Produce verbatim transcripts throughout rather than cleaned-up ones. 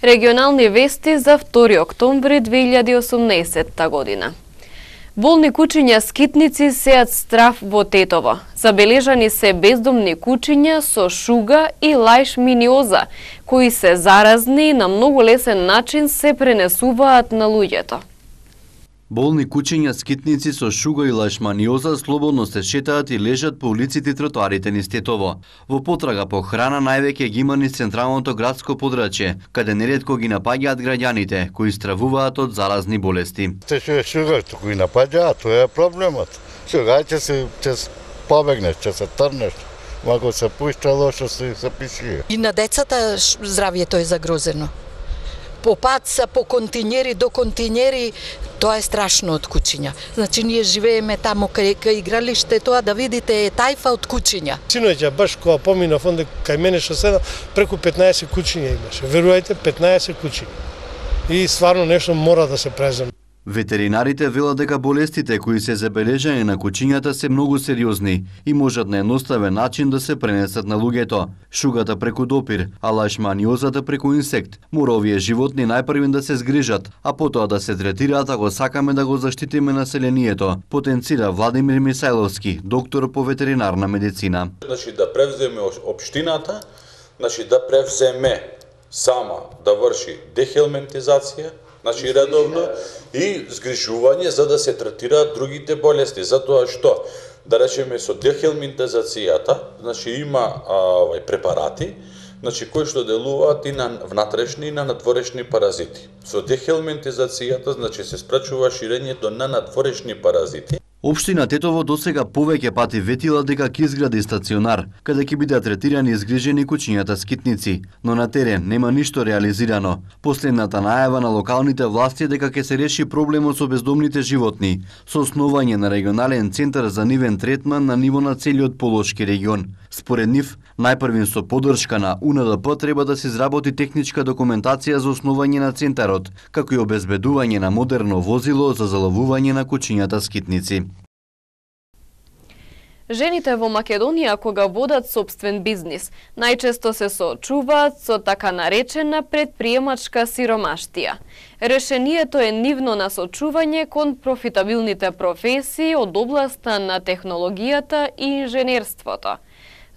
Регионални вести за втори октомври две илјади и осумнаесетта година. Болни кучиња скитници сеат страв во Тетово. Забележани се бездомни кучиња со шуга и лајшманиоза, кои се заразни и на многу лесен начин се пренесуваат на луѓето. Болни кучиња скитници со шуга и лајшманиоза слободно се шетаат и лежат по улиците и тротоарите низ Тетово. Во потрага по храна највеќе ги има низ централното градско подрачје, каде неретко ги напаѓаат граѓаните кои стравуваат од заразни болести. Те што е шуга, кои напаѓаат, тоа е проблемот. Шуга ќе се ќе побегнеш, ќе се трнеш. Ако се пушта лошо се се пиши. И на децата здравјето е загрозено. По паца, по континери до континери, тоа е страшно од кучиња. Значи ние живееме таму кај, кај игралиште, тоа да видите е тајфа од кучиња. Синоќа баш кога поминав онде кај мене што седам, преку петнаесет кучиња имаше. Верувајте, петнаесет кучиња. И стварно нешто мора да се преземе. Ветеринарите велат дека болестите кои се забележани на кучињата се многу сериозни и можат на едноставен начин да се пренесат на луѓето. Шугата преку допир, а лајшманиозата преку инсект. Мора овие животни најпрвен да се згрижат, а потоа да се третираат ако сакаме да го заштитиме населението, потенцира Владимир Мисајловски, доктор по ветеринарна медицина. Значи да превземе општината, значи да превземе сама да врши дехелментизација, значи редовно, и згрижување за да се третираат другите болести, затоа што, да речеме со дехелментизацијата, значи има а, препарати, значи кои што делуваат и на внатрешни и на надворешни паразити. Со дехелментизацијата, значи се спречува ширењето на надворешни паразити. Општина Тетово досега повеќе пати ветила дека ќе изгради стационар, каде ќе бидат третирани и згрижени кучињата скитници, но на терен нема ништо реализирано. Последната најава на локалните власти е дека ќе се реши проблемот со бездомните животни, со основање на регионален центар за нивен третман на ниво на целиот Полошки регион. Според нив, најпрвен со поддршка на У Н Д П треба да се изработи техничка документација за основање на центарот, како и обезбедување на модерно возило за заловување на кучињата скитници. Жените во Македонија кога водат сопствен бизнис, најчесто се соочуваат со така наречена предприемачка сиромаштија. Решението е нивно насочување кон профитабилните професии од областа на технологијата и инженерството.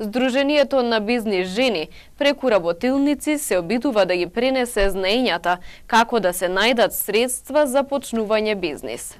Сдруженијето на бизнис жени преку работилници се обидува да ги пренесе знаењата како да се најдат средства за почнување бизнис.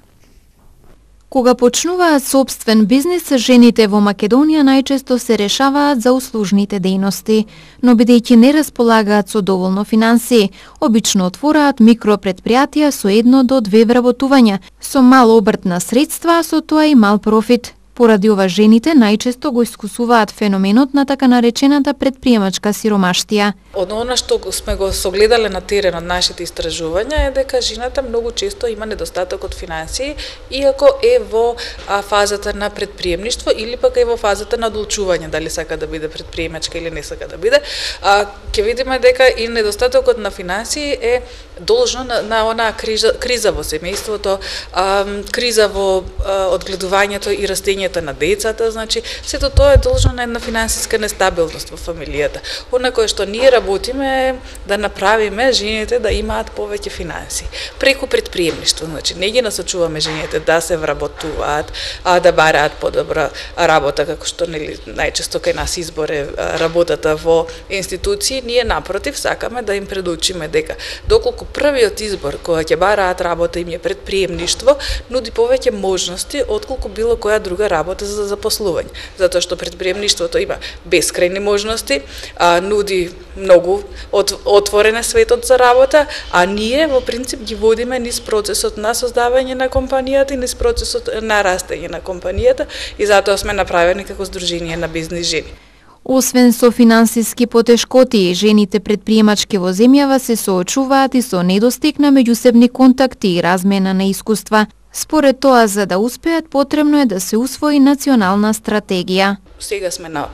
Кога почнуваат собствен бизнис, жените во Македонија најчесто се решаваат за услужните дејности, но бидејќи не располагаат со доволно финансии, обично отвораат микропредпријатија со едно до две вработувања, со мал обрт на средства, а со тоа и мал профит. Поради ова жените најчесто го искусуваат феноменот на така наречената предприемачка сиромаштија. Од она што сме го согледале на терен од нашите истражувања е дека жената многу често има недостаток од финансии, иако е во а, фазата на предприемништво или пак е во фазата на одлучување дали сака да биде предприемачка или не сака да биде. А, ќе видиме дека и недостатокот на финансии е должно на, на онаа криза, криза во семејството, а, криза во а, одгледувањето и растењето на децата, значи сето тоа е должно на една финансиска нестабилност во фамилијата. Она кое што ние работиме е да направиме жените да имаат повеќе финанси преку предприемништво, значи не ги насочуваме жените да се вработуваат, а да бараат подобра работа, како што нели најчесто кај нас избор е работата во институции. Ние напротив сакаме да им предучиме дека доколку првиот избор кога ќе бараат работа им е предприемништво, нуди повеќе можности отколку било која друга работа за запослување, затоа што предприемништвото има бескрајни можности, а, нуди многу от, отворен е светот за работа, а ние во принцип ги водиме низ процесот на создавање на компанијата и низ процесот на растење на компанијата и затоа сме направени како Сдружение на бизнис жени. Освен со финансиски потешкоти, жените предприемачки во земјава се соочуваат и со недостиг на меѓусебни контакти и размена на искуства. Според тоа, за да успеат, потребно е да се усвои национална стратегија. Сега сме на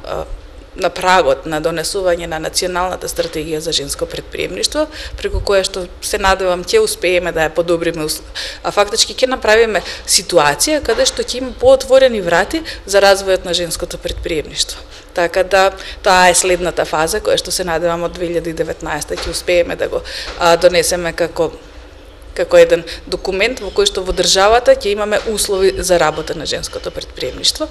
на прагот на донесување на националната стратегија за женско предприемништво, преку која што се надевам ќе успееме да ја подобриме, а фактички ќе направиме ситуација каде што ќе има поотворени врати за развојот на женското предприемништво. Така да тоа е следната фаза која што се надевам од две илјади и деветнаесета ќе успееме да го а, донесеме како како еден документ во кој што во државата ќе имаме услови за работа на женското претприемништво.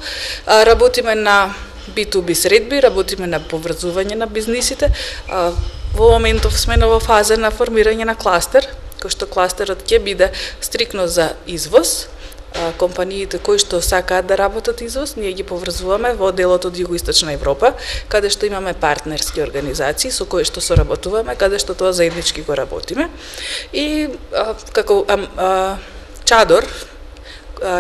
А, работиме на би ту би средби, работиме на поврзување на бизнисите. А, во моментов сме во фаза на формирање на кластер, кој што кластерот ќе биде стрикно за извоз. Компаниите кои што сакаат да работат извоз, ние ги поврзуваме во делот од Југоисточна Европа, каде што имаме партнерски организации со кои што соработуваме, каде што тоа заеднички го работиме. И а, како а, а, чадор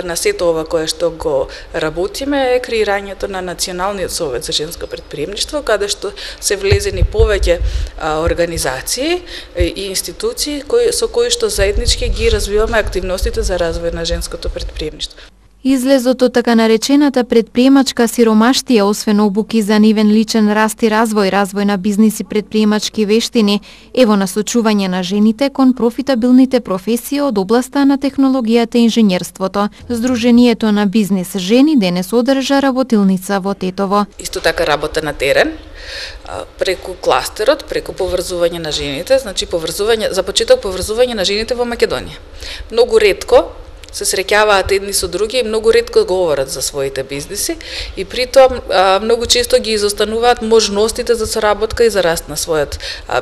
на сето ова кое што го работиме е креирањето на Националниот совет за женско претприемништво, каде што се влезени повеќе а, организации и институции кои, со кои што заеднички ги развиваме активностите за развој на женското претприемништво. Излезот од така наречената предприемачка сиромаштија, освен обуки за нивен личен раст и развој, развој на бизнис и предприемачки вештини, е во насочување на жените кон профитабилните професии од областа на технологијата и инженерството. Сдруженијето на бизнис жени денес одржа работилница во Тетово. Исто така работа на терен, преку кластерот, преку поврзување на жените, значи поврзување, за почеток поврзување на жените во Македонија. Многу ретко се среќаваат едни со други и многу ретко говорат за своите бизниси и при тоа многу често ги изостануваат можностите за соработка и за раст на својот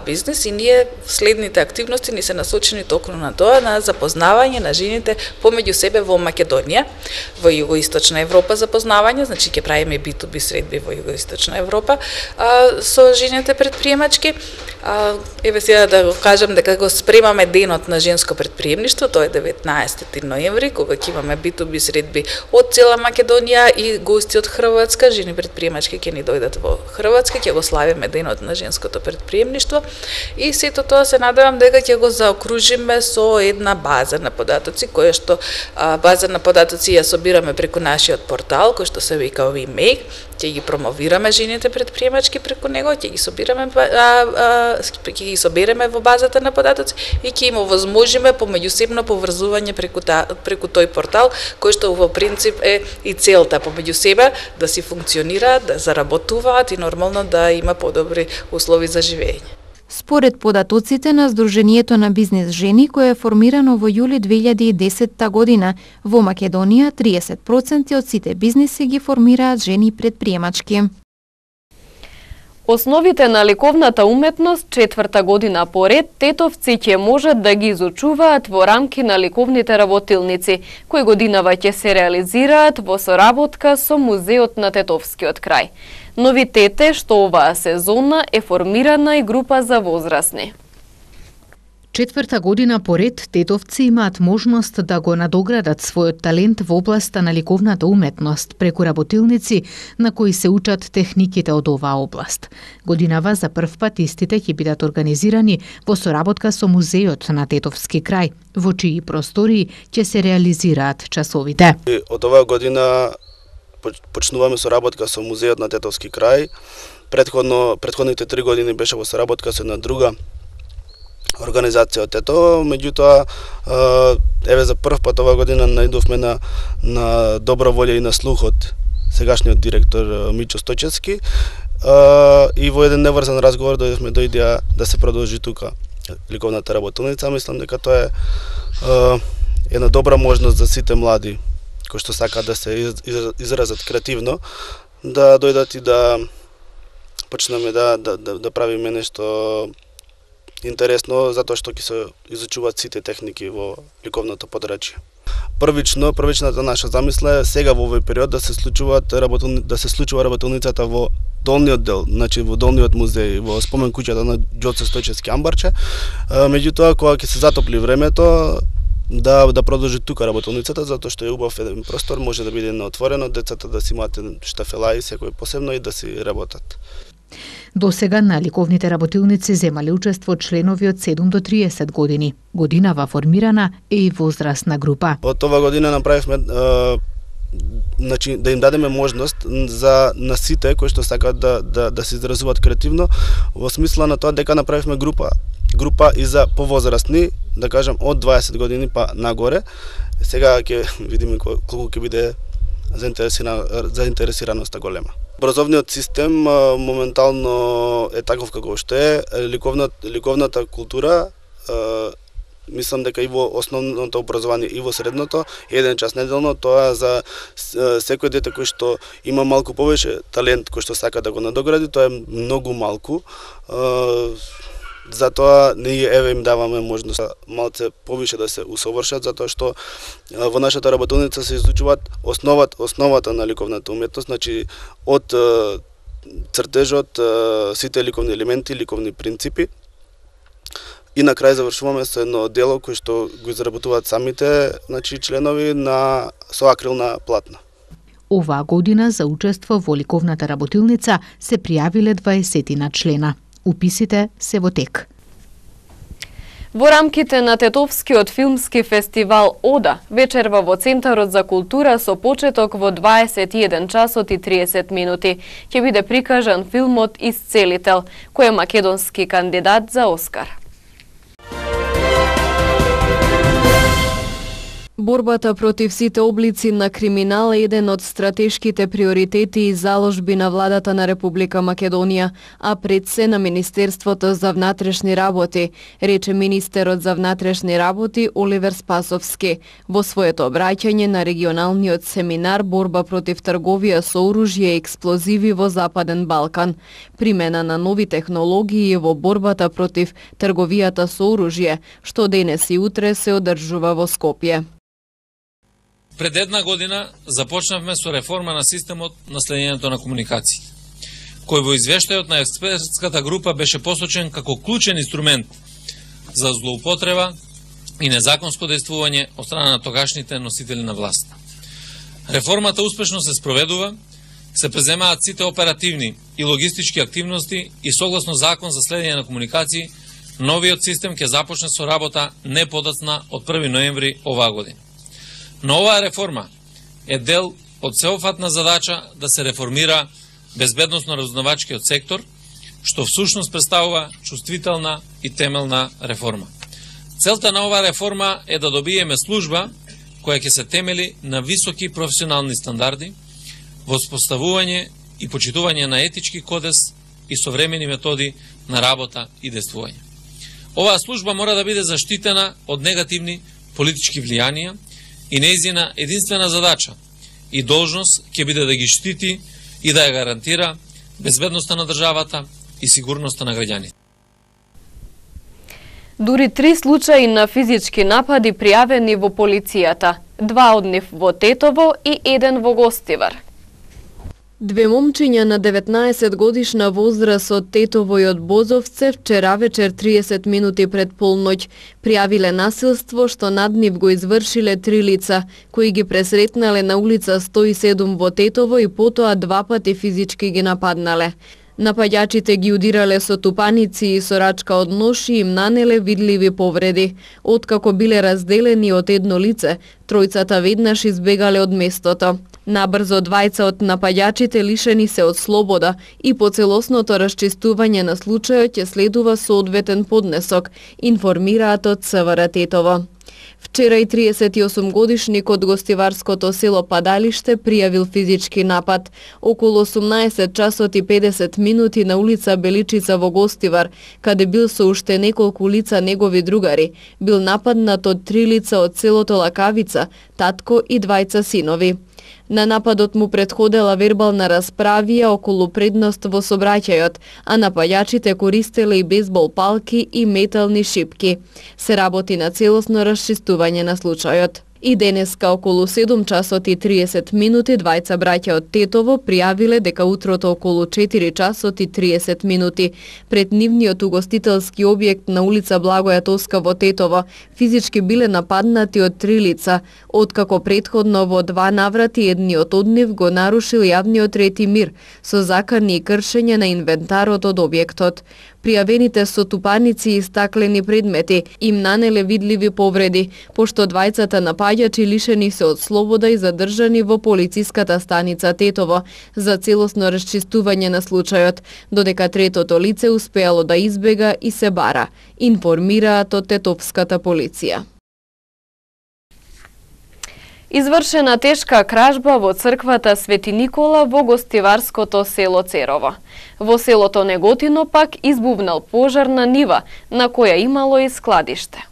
бизнис и ние следните активности ни се насочени токму на тоа, на запознавање на жените помеѓу себе во Македонија, во Југоисточна Европа запознавање, значи ќе правиме би ту би средби во Југоисточна Европа а, со жените предприемачки. А, еве сега да го кажам дека го спремаме денот на женско предприемништво, тоа е деветнаесети ноември, кога ќе имаме би ту би средби од цела Македонија и гости од Хрватска, жени предприемачки ќе ни дојдат во Хрватска, ќе го славиме денот на женското предприемништво и сето тоа се надевам дека ќе го заокружиме со една база на податоци, која што а, база на податоци ја собираме преку нашиот портал, кој што се вика WeMake, ќе ги промовираме жените предприемачки преку него, ќе ги собираме а, а, ќе ги собереме во базата на податоци и ќе им овозможиме помеѓусебно поврзување преку та, преку тој портал, кој што во принцип е и целта помеѓу себе да си функционираат, да заработуваат и нормално да има подобри услови за живење. Според податоците на Сдруженијето на бизнис жени, кое е формирано во јули две илјади и десетта година, во Македонија триесет проценти од сите бизниси ги формираат жени предприемачки. Основите на ликовната уметност четврта година поред тетовци ќе можат да ги изучуваат во рамки на ликовните работилници, кои годинава ќе се реализираат во соработка со Музеот на Тетовскиот крај. Новитете што оваа сезона е формирана и група за возрастни. Четврта година поред тетовци имаат можност да го надоградат својот талент во областа на ликовната уметност преку работилници на кои се учат техниките од оваа област. Годинава за прв пат истите ќе бидат организирани во соработка со Музеот на Тетовски крај, во чии простории ќе се реализираат часовите. Од оваа година почнуваме соработка со Музеот на Тетовски крај. Предходно предходните три години беше во соработка со една друга организација од Тето, меѓутоа еве за прв пат оваа година најдовме на на добра волја и на слух од сегашниот директор Мичо Стојчевски и во еден неврзан разговор дојдовме до идеја да се продолжи тука ликовната работилница. Мислам дека тоа е една добра можност за сите млади кои што сакаат да се изразат креативно, да дојдат и да почнеме да да да, да правиме нешто интересно, затоа што ќе се изучуваат сите техники во ликовното подрачје. Првично, првичната наша замисла е сега во овој период да се случуваат работилни, да се случува работилницата во долниот дел, значи во долниот музеј, во спомен куќата на Ѓоце Стојчевски амбарче. Меѓутоа кога ќе се затопли времето, да да продолжи тука работилницата, затоа што е убав еден простор, може да биде на отворено, децата да си имаат штафела и секој посебно и да си работат. До сега на ликовните работилници земале учество членови од седум до триесет години. Годинава формирана е и возрастна група. Од ова година направивме е, значи да им дадеме можност за на сите кои што сакаат да да да се изразуваат креативно, во смисла на тоа дека направивме група група и за повозрастни, да кажам од дваесет години па нагоре. Сега ќе видиме колку ќе биде заинтересираноста голема. образовниот систем моментално е таков како што е. Ликовната, ликовната култура, мислам дека и во основното образование и во средното, еден час неделно, тоа за секој дете кој што има малку повеќе талент, кој што сака да го надогради, тоа е многу малку. Затоа ние еве им даваме можност малце повише да се усовршат, затоа што во нашата работилница се изучуваат основата, основата на ликовната уметност, значи од цртежот, сите ликовни елементи, ликовни принципи. И на крај завршуваме со едно дело кој што го изработуваат самите, значи членови на со акрилна платна. Оваа година за учество во ликовната работилница се пријавиле дваесет члена. Уписите се во тек. Во рамките на Тетовскиот филмски фестивал Ода, вечерва во Центарот за култура со почеток во дваесет и еден часот и триесет минути ќе биде прикажан филмот Исцелител, кој е македонски кандидат за Оскар. Борбата против сите облици на криминал е еден од стратешките приоритети и заложби на владата на Република Македонија, а пред се на Министерството за внатрешни работи, рече министерот за внатрешни работи Оливер Спасовски во своето обраќање на регионалниот семинар Борба против трговија со оружје и експлозиви во Западен Балкан, примена на нови технологии во борбата против трговијата со оружје, што денес и утре се одржува во Скопје. Пред една година започнавме со реформа на системот на следењето на комуникации, кој во извештајот на експертската група беше посочен како клучен инструмент за злоупотреба и незаконско действување од страна на тогашните носители на власт. Реформата успешно се спроведува, се преземаат сите оперативни и логистички активности и согласно закон за следење на комуникации, новиот систем ќе започне со работа не подоцна од први ноември оваа година. Но оваа реформа е дел од сеопфатна задача да се реформира безбедносно-разузнавачкиот сектор, што всушност представува чувствителна и темелна реформа. Целта на оваа реформа е да добиеме служба која ќе се темели на високи професионални стандарди, воспоставување и почитување на етички кодекс и современи методи на работа и действување. Оваа служба мора да биде заштитена од негативни политички влијанија и нејзина единствена задача и должност ќе биде да ги штити и да ја гарантира безбедноста на државата и сигурноста на граѓаните. Дури три случаи на физички напади пријавени во полицијата, два од нив во Тетово и еден во Гостивар. Две момчиња на деветнаесет годишна возраст од Тетово и од Бозовце вчера вечер триесет минути пред полноќ пријавиле насилство што над нив го извршиле три лица, кои ги пресретнале на улица сто и седум во Тетово и потоа два пати физички ги нападнале. Напаѓачите ги удирале со тупаници и со рачка од нож и им нанеле видливи повреди. Откако биле разделени од едно лице, тројцата веднаш избегале од местото. Набрзо двајца од напаѓачите лишени се од слобода и по целосното расчистување на случајот ќе следува соодветен поднесок, информираат од ЦВР Тетово. Вчера и триесет и осум годишник од гостиварското село Падалиште пријавил физички напад. Околу осумнаесет часот и педесет минути на улица Беличица во Гостивар, каде бил со уште неколку лица негови другари, бил нападнат од три лица од селото Лакавица, татко и двајца синови. На нападот му предходела вербална расправија околу предност во сообраќајот, а напаѓачите користеле и бейсбол палки и метални шипки. Се работи на целосно расчистување на случајот. И денеска околу седум часот и триесет минути двајца браќа од Тетово пријавиле дека утрото околу четири часот и триесет минути пред нивниот угостителски објект на улица Благоја Тоска во Тетово физички биле нападнати од три лица, откако претходно во два наврати едниот од нив го нарушил јавниот ред и мир со закани и кршење на инвентарот од објектот. Пријавените со тупаници и стаклени предмети им нанеле видливи повреди, пошто двајцата напаѓачи лишени се од слобода и задржани во полициската станица Тетово за целосно расчистување на случајот, додека третото лице успеало да избега и се бара, информираат од тетовската полиција. Извршена тешка кражба во црквата Свети Никола во гостиварското село Церово. Во селото Неготино пак избувнал пожар на нива, на која имало и складиште.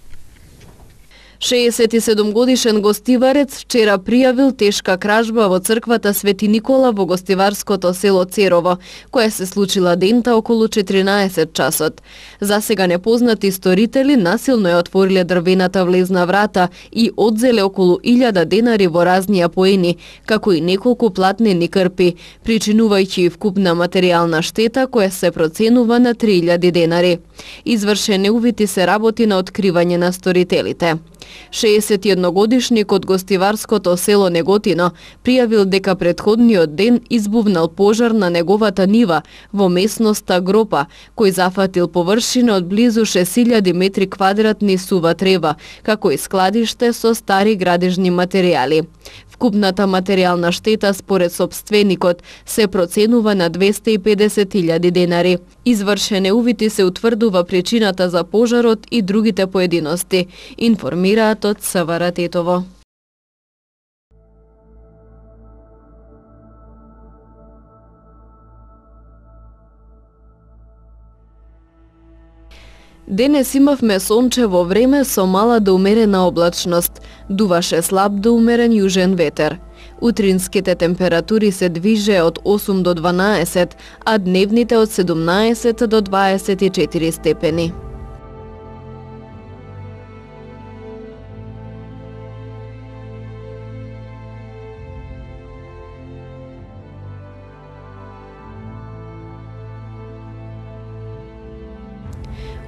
шеесет и седум годишен гостиварец вчера пријавил тешка кражба во црквата Свети Никола во гостиварското село Церово, која се случила дента околу четиринаесет часот. За сега непознати сторители насилно ја отвориле дрвената влезна врата и одзеле околу илјада денари во разни апоени, како и неколку платнени крпи, причинувајќи вкупна материјална штета која се проценува на три илјади денари. Извршени увити се работи на откривање на сторителите. шеесет и едногодишник од гостиварското село Неготино пријавил дека претходниот ден избувнал пожар на неговата нива во местноста Гропа, кој зафатил површина од близу шест илјади метри квадратни сува трева, како и складиште со стари градежни материјали. Вкупната материјална штета според сопственикот се проценува на двесте и педесет илјади денари. Извршене увити се утврдува причината за пожарот и другите поединости, информираат од СВР Тетово. Денес имавме сончево време со мала до умерена облачност, дуваше слаб до умерен јужен ветер. Утринските температури се движе од осум до дванаесет, а дневните од седумнаесет до дваесет и четири степени.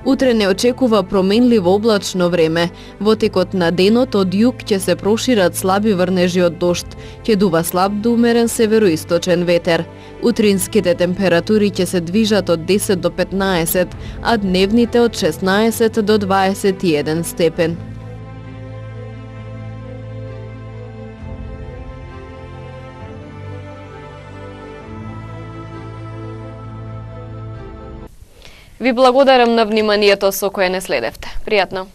Утре не очекува променливо облачно време. Во текот на денот од југ ќе се прошират слаби врнежи од дожд, ќе дува слаб до умерен североисточен ветер. Утринските температури ќе се движат од десет до петнаесет, а дневните од шеснаесет до дваесет и еден степен. Ви благодарам на вниманието со кое не следевте. Пријатно!